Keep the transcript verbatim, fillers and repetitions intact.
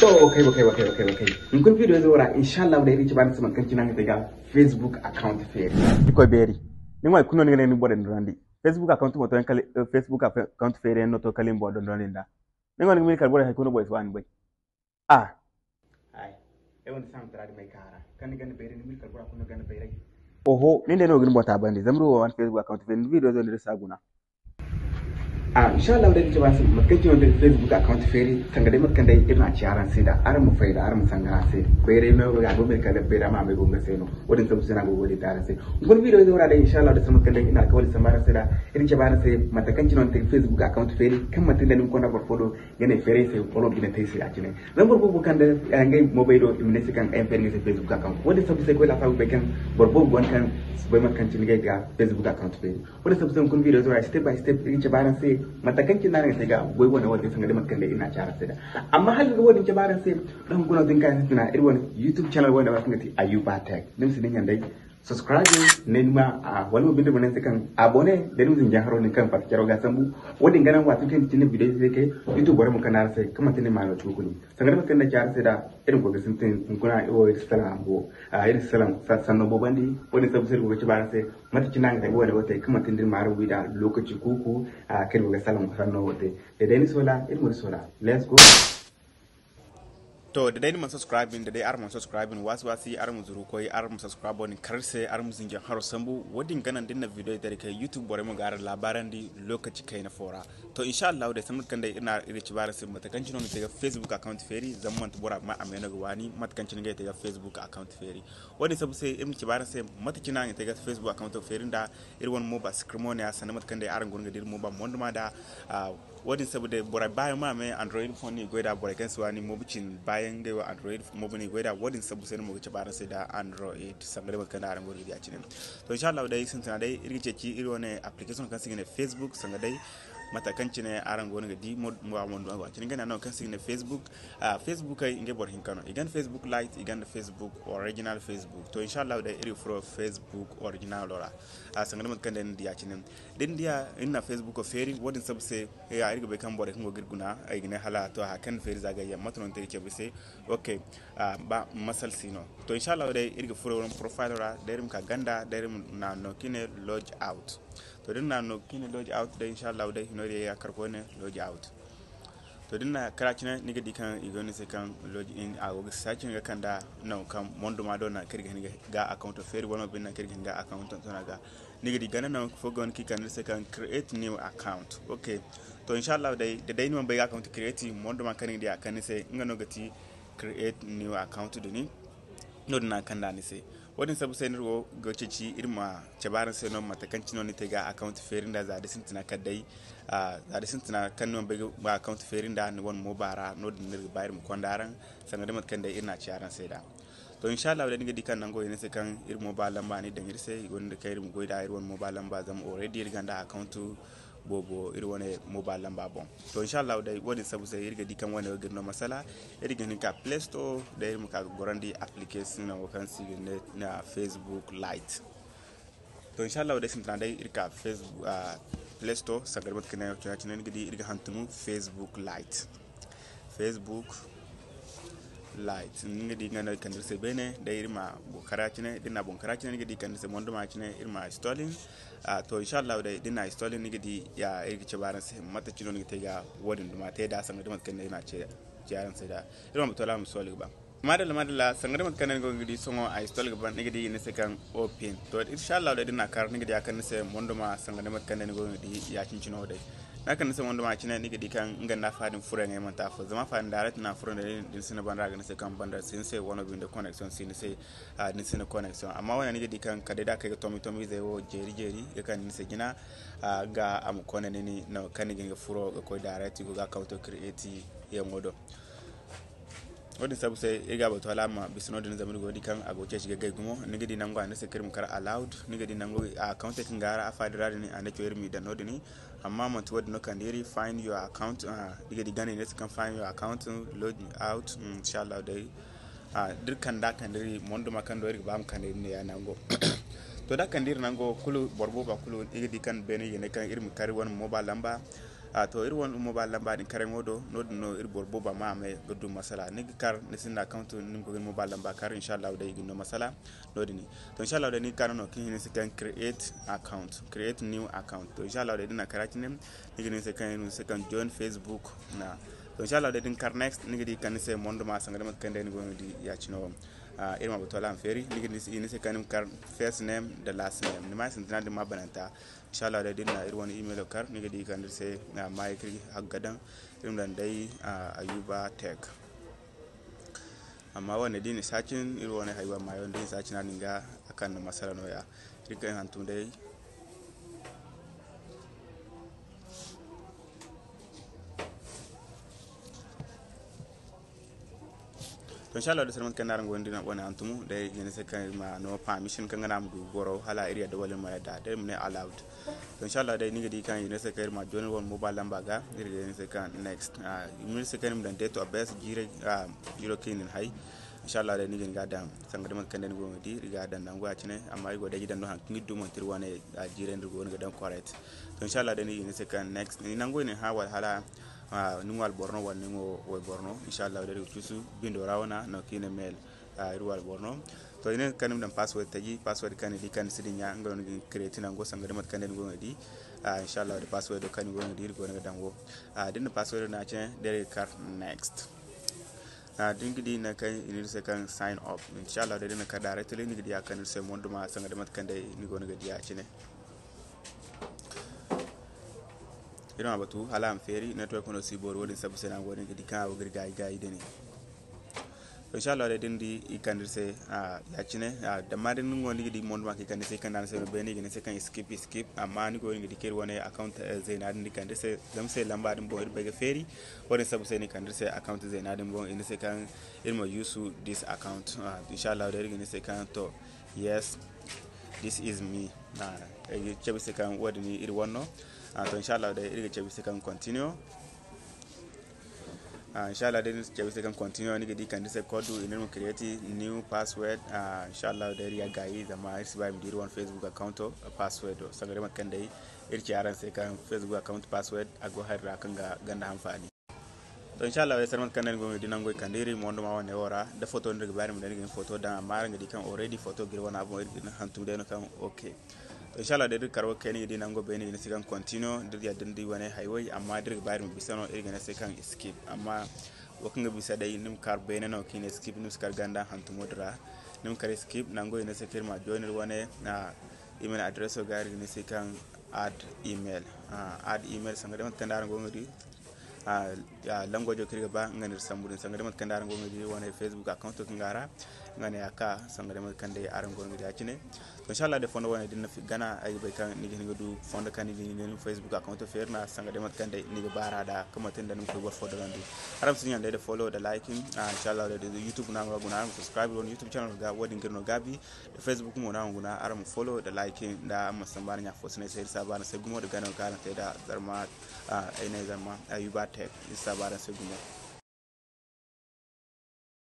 Okay, okay, okay, okay, okay. Hunkuna video izo ra, inshallah, day iri ci baani se mate kaŋ cine a ga te ga Facebook account feeri. Iri koy beeri. Ni ŋwa kulu no ni ga ne ni boro dondonandi. Facebook account mo to yaŋ kala, eh, Facebook account feeri yaŋ no to kala ni boro dondonandi nda. Ni ŋwa ni ga miila kala boro hay kulu no boro si waani bay. Ah. Ay. Ay wanda saŋ tara di may kaara. Kaŋ ni ganda bayray, ni miila kala boro kulu no ganda bayray. Oho, nin day no ga ni boro taabandi. Zama iri wo waani Facebook account feeri, ni video izo ni iri si a guna. Ah, inshallah, day ni ci baani se mate kaŋ cine no Facebook account feeri, sanga day mate kaŋ day iri na a ci araŋ se da, araŋ ma fayda, araŋ ma sanga a se. Bayray no ga go me kala bayray ma bay go nga se no. Wo-din sabu se no a go ga wo-din te araŋ se. Hunkuna video izo ra day, inshallah, day sanda mate kaŋ day iri na alkawali samba araŋ se da, iri ci baani se mate kaŋ cine no ni te ga Facebook account feeri, kaŋ manti ni da ni ma konda boro fo do, ga ne feeray se, wala bine te se a cine. Zama boro boobo kaŋ da, eh, ngey mobay do, i ma ne se kaŋ ay ma feeri nga se Facebook account. Wo-din sabu se koy laasabu bay kaŋ boro boobo go no kaŋ si bay mate kaŋ cine ngey ga Facebook account feeri. Wo-din sabu se hunkuna video izo ra step by step iri ga cabe araŋ se mate kaŋ cine no araŋ ga te ga goy wane wo te sanga day mate kaŋ day iri na a ci araŋ se da. Amma hala iri ga wo-din cabe araŋ se, da hunkuna wo din kaŋ sintina iri wane YouTube channel wane wo kaŋ ga ti Ayuba Tech. Ni ma si dinya day subscribe, ne ni ma, ah, wala mo binde mo ne ni se kaŋ abonné, da ni ma zinjaŋ haro din kaŋ fatta caro ga sambu. Wo-din ga naŋ waati kaŋ cine video izo te kay, YouTube borey ma kande araŋ se kaŋ manti ni ma no tuukuni. Sanga day mate kaŋ day ci araŋ se da, iri ma koy ga sintin hunkuna iri wo iri si salaŋ a mo, ah, iri si salaŋ sa-, sanno boobandi. Wo-din sabu se iri go ga cabe araŋ se mate cine no a ga te ga wane wo te kaŋ manti ni da ni ma araŋ wi da lokaci kuuku, ah, kaŋ iri go ga salaŋ sanno wo te. Da day ni soola, iri mo iri soola. Let's go. To, da day ni mana subscribe, da day araŋ mana subscribe, waasi waasi araŋ ma zuru koy, araŋ ma subscribe din kar se, araŋ ma zinjaŋ haro sambu. Wo-din ga naŋ da ni na video day kay YouTube borey ma ga araŋ laabaarandi lokaci kayna fo ra. To, inshallah, day sanda mate kaŋ day iri na iri ga cabe araŋ se mate kaŋ cine no ni te ga Facebook account feeri, zama manti bora ma a me no ga waani mate kaŋ cine ngey te ga Facebook account feeri. Wo-din sabu se iri ma cabe araŋ se mate cine no a ga te ga Facebook account feeri nda iri wane mobile screen mo ne ya sanda mate kaŋ day araŋ go no ga di iri mobile moyduma da, ah, wo-din sabu day borey baayaŋ ma me Android phone no i goy da, borey kaŋ si waani mobile cine baayaŋ ngey wo Android mobile no i goy da, wo-din sabu se no mo ga cabe araŋ se da Android sanga day mate kaŋ day araŋ go no ga di ya cine. To, inshallah, day sintina day iri ga ceeci iri wane application kaŋ se i ga ne Facebook, sanga day mate kaŋ cine araŋ go no ga di mo, mo, mo, mo, cine ngey no kaŋ se i ga ne Facebook, ah, Facebook ay ngey boro hinka no. I gonda Facebook Lite, i gonda Facebook, original Facebook. To, inshallah, day iri ga furo Facebook original ra. Ah, sanga day mate kaŋ day ni di ya cine. Da ni diya iri na Facebook feeri, wo-din sabu se, ya, iri ga bay kaŋ borey kaŋ go ga iri guna, ay ga ne hala to, aha kaŋ ni feeri za gayyaŋ, mate no ni te ga cabe se. Ok, ah, ba masal si no. To, inshallah, day iri ga furo profile ra, day iri ma ka ganda, day iri ma na no kaŋ i ne log out. To, da iri na no kaŋ i ne log out, day inshallah, day hino day ya kar koyne log out. To, da ni na kara cine, ni ga di kaŋ i go ni se kaŋ log in, a go ga searching ga kanda nangu kaŋ moyduma do nangu kaŋ iri ga hin ga account feeri wala mo binde nangu kaŋ iri ga hin ga account tontona ga. Ni ga di ganda nangu fo go no kaŋ i kande ni se kaŋ create new account. Ok. To, inshallah, day, da day ni mana bay ga account create, moyduma kaŋ ni ga di a kande ni se, nga no ga ti create new account din. No-din no a kanda ni se. Wo-din sabu se no iri go ga ceeci iri ma cabe araŋ se no mate kaŋ cine no ni te ga account feeri nda za da sintina kala day, ah, za da sintina kaŋ ni mana bay ga account feeri nda ni wane mobile ra, no-din no iri ga ba iri ma konda araŋ, sanga day mate kaŋ day iri na a ci araŋ se da. To, inshallah, day ni ga di kaŋ nango i ne se kaŋ iri mobile lamba no i daŋ iri se, i gonda kaŋ iri ma goy da iri wane mobile lamba, zama already iri gonda account boobo iri wane mobile lamba boŋ. To, inshallah, day wo-din sabu se iri ga di kaŋ wane wo ga iri no masala, iri ga hin ka Play Store, day iri ma ka ga gorandi application wo kaŋ se i ga ne, na Facebook Lite. To, inshallah, day sintina day iri ka Facebook, ah, Play Store, sanga day mate kaŋ ni ga di iri ga hantumu Facebook Lite. Facebook Lite. Ni ga di nga no i kande iri se beene, day iri ma boŋ kara cine, da ni na boŋ kara cine, ni ga di kande se moyduma cine, iri ma installing. Ah, to, inshallah, day da ni na installing, ni ga di, ya, iri ga cabe araŋ se mate cine no ni ga te ga wo-din duma te da, sanga day mate kaŋ day iri na ce, ce araŋ se da. Iri ma batu wala ma sohõ ga ba. Madalla, madalla, sanga day mate kaŋ day ni go ga di sohõ a install ga ban, ni ga di i ne se kaŋ open. To, inshallah, day da ni na kar, ni ga di a kande ni se moyduma, sanga day mate kaŋ day ni go ga di ya cine wo day. Ni a kande ni se moyduma cine, ni ga di kaŋ nga nda afa din furo yaŋ ay manti afo. Zama afa din direct no a furo nda ni, da ni sinda banda ga ne se kaŋ banda si ni se, wano binde connection si ni se, ah, da ni sinda connection. Amma wane ni ga di kaŋ kala day da a kay ga tomi tomi izey wo jeeri jeeri, ga kande ni se jina, ah, ga a ma konda ni, ni no kaŋ ni ga hin ga furo ga koy direct, i go ga account create yaŋo do. Wo-din sabu se, iri ga batu hala a ma bisa no-din, zama iri go ga di kaŋ a go ga ceeci ga gay gumo. Ni ga di nango a ne se kaŋ iri ma kar allowed. Ni ga di nango a account kaŋ ga ra afa din ra din, a ne caw iri ma i daŋ no-din. Amma manti wo-din no kande iri find your account, ah, ni ga di ganda i ne se kaŋ find your account, log out, mm, inshallah day. Ah, da iri kanda kande iri moyduma kaŋ do iri ga ba ma kande iri ne ya nango. To, da kande iri nango kulu, boro booba kulu, iri ga di kaŋ beene i ga ne kaŋ iri ma kar iri wane mobile lamba. A to, iri wane mobile lamba din karaŋo do, no din no iri boro booba ma a may ga du masala. Ni ga kar, ni sinda account, ni ma koy ga ni mobile lamba kar, inshallah day i ga ni no masala no din. To inshallah day ni ga kar no kin hin se kan create account, create new account. To inshallah day din na kar a cine, ni ga ni se kan, ni se kan join Facebook na. To inshallah day din kar next, ni ga di kan ni se mondo ma sanga da mate kan day ni go ga di ya cine wo. Ah, iri ma batu ala feeri, ni ga di ni se kan ni ma kar first name da last name. Ni ma sintina din ma bananta. Inshallah day din na iri wane email kar, ni ga di kan iri se, ah, ma iri hagga daŋ, iri ma daŋ day, ah, Ayuba Tech. Amma wane din sacin, iri wane haywa ma yawan din sacin a din ga a kan na masala no ya. Iri kan hantum day. To inshallah day sanda mate kan araŋ go ga di wane hantumo day, i ga ne se kan iri ma no permission kan ga naŋ a ma du boro hala iri yadda wala iri ma yadda day, iri ma ne allowed. To inshallah day ni ga di kan i ga ne se kan iri ma join wane mobile lamba ga, iri ga ne se kan next. Ah, i ma ne se kan iri ma daŋ date of birth, jiiro, ah, jiiro kaŋ i na ni hay. Inshallah day ni ga ni ga daŋ sanga da mate kan day ni go ga di, iri ga daŋ nangu a cine, amma iri go day ga daŋ no haŋ kaŋ iri du manti iri wane, ah, jiirey no iri go ga daŋ correct. To inshallah day ni ga ne se kan next. Ni nangu i na ni hã wala hala Ah, ni ŋwa alboro no wala ni ŋwa wayboro no, inshallah day iri ga cuusu bindo ra wana no kaŋ i ne mail. Ah, iri ŋwa alboro no. To i ne kaŋ ni ma daŋ password taji, password kaŋ ni di kaŋ ni si dinya, nga no ni ga create nango sanga da mate kaŋ day ni go ga di. Ah, inshallah day password kaŋ ni go ga di iri go ga daŋ wo. Ah, da ni na password no a cine day iri ga kar next. Ah, da ni ga di nangu kaŋ i ne iri se kaŋ sign up. Inshallah day da ni na kar directly ni ga di a kaŋ iri se mondo ma sanga da mate kaŋ day ni go ga di a cine. Iri ma batu hala a ma feeri, network no si boori, wo-din sabu se no a go din ga di kaŋ a go ga iri gaayi gaayi day ne. To inshallah day da ni di i kande iri se, ah, ya cine, ah, damma da ni go ni ga di mondo ma kaŋ i kande iri se, i kande araŋ se no beene, i ga ne se kaŋ skip, skip, amma ni go ni ga di kaŋ iri wane account, eh, zeena din iri kande iri se, zama se lamba din boŋ iri bay ga feeri, wo-din sabu se no i kande iri se account zeena din boŋ, i ne se kaŋ iri ma use this account. Ah, inshallah day iri ga ne se kaŋ to, yes, this is me. Ah, iri ga cabe se kaŋ wo-din iri wane no. Ah, to inshallah day iri ga cabe se kaŋ continue. Ah, inshallah day iri ga cabe se kaŋ continue, ni ga di kaŋ iri se code, i ne iri ma create new password. Ah, inshallah day iri ya gaayi zama iri si ba iri ma di iri wane Facebook account password sanga da mate kaŋ day iri ci araŋ se kaŋ Facebook account password a go hari ra kaŋ ga ganda hanfaani. To inshallah day sanda mate kaŋ day ni go ga di nango i kande iri mondo ma wane wo ra, da photo no iri ga ba iri ma daŋ, iri ga hin photo daŋ, amma araŋ ga di kaŋ already photo ga iri wane a boŋ, iri ga hin hantum day no kaŋ okay. To inshallah day da iri kar wo kay ni ga di nango beene i ga ne se kaŋ continue, da iri yadda ni di wane hayway, amma da iri ga ba iri ma bisa no iri ga ne se kaŋ skip. Amma wo kaŋ ga bisa day ni ma kar beene no kaŋ i ne skip, ni ma si kar ganda hantumo din ra, ni ma kar skip nango i ne se kaŋ iri ma join iri wane, ah, email address ga, iri ga ne se kaŋ add email. Ah, add email sanga da mate kaŋ day araŋ go ga di. Ah, ah, language kaŋ iri ga ba nga no iri sambu din sanga da mate kaŋ day araŋ go ga di wane Facebook account kaŋ ga ra, nga no ya ka sanga da mate kaŋ day araŋ go ga di a cine. To inshallah day fondo wane din na fi gana, ay ga bay kaŋ ni ga hin ga du fondo kaŋ ni ga hin ga ni Facebook account feeri nda sanga da mate kaŋ day ni ga ba ra da kaŋ manti nda ni ma koy boro fo daŋ du. Araŋ ma si ɲaŋ day da follow da liking. Ah, inshallah day da YouTube no araŋ ga guna, araŋ ma subscribe wane YouTube channel ga, wo-din ga iri no gaabi. Da Facebook mo no araŋ guna, araŋ ma follow da like nda araŋ ma samba araŋ ɲa fo sinay se, iri si a ba araŋ se gumo da ganayaŋ kaŋ araŋ te da Zarma, ah, ay ne Zarma, ah, Ayuba Tech, iri si a ba araŋ se gumo.